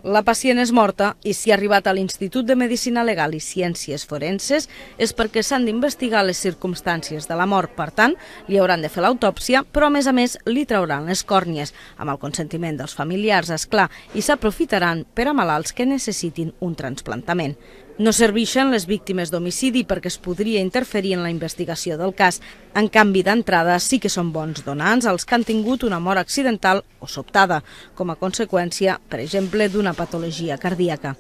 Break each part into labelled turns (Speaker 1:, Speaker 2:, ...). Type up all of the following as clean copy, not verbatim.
Speaker 1: La pacient és morta i si ha arribat a l'Institut de Medicina Legal i Ciències Forenses és perquè s'han d'investigar les circumstàncies de la mort. Per tant, li hauran de fer l'autòpsia, però a més li trauran les còrnies, amb el consentiment dels familiars, és clar, i s'aprofitaran per a malalts que necessitin un trasplantament. No serveixen les víctimes d'homicidi perquè es podria interferir en la investigació del cas. En canvi, d'entrada sí que són bons donants els que han tingut una mort accidental o sobtada, com a conseqüència, per exemple, d'una patologia cardíaca.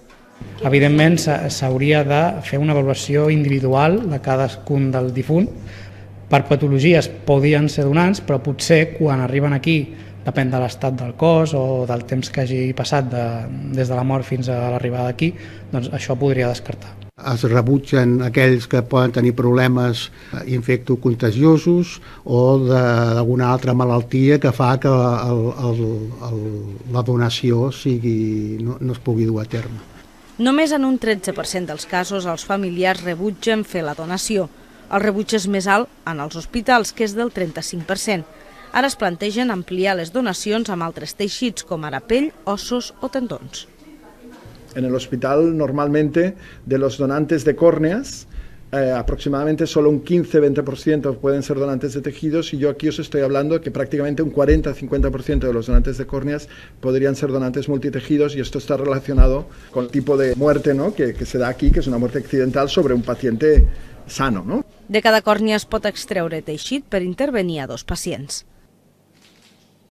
Speaker 2: Evidentment, s'hauria de fer una avaluació individual de cadascun del difunt. Per patologies podien ser donants, però potser quan arriben aquí, depèn de l'estat del cos o del temps que hagi passat des de la mort fins a l'arribada aquí, doncs això podria descartar.
Speaker 3: Es rebutgen aquells que poden tenir problemes infectocontagiosos o d'alguna altra malaltia que fa que la donació no es pugui dur a terme.
Speaker 1: Només en un 13% dels casos els familiars rebutgen fer la donació. El rebuig és més alt en els hospitals, que és del 35%. Ara es plantegen ampliar les donacions amb altres teixits, com ara pell, ossos o tendons.
Speaker 4: En el hospital, normalmente, de los donantes de córneas, aproximadamente solo un 15-20% pueden ser donantes de tejidos, y yo aquí os estoy hablando que prácticamente un 40-50% de los donantes de córneas podrían ser donantes multitejidos, y esto está relacionado con el tipo de muerte, ¿no?, que se da aquí, que es una muerte accidental sobre un paciente sano, ¿no?
Speaker 1: De cada còrnia es pot extreure teixit per intervenir a 2 pacients.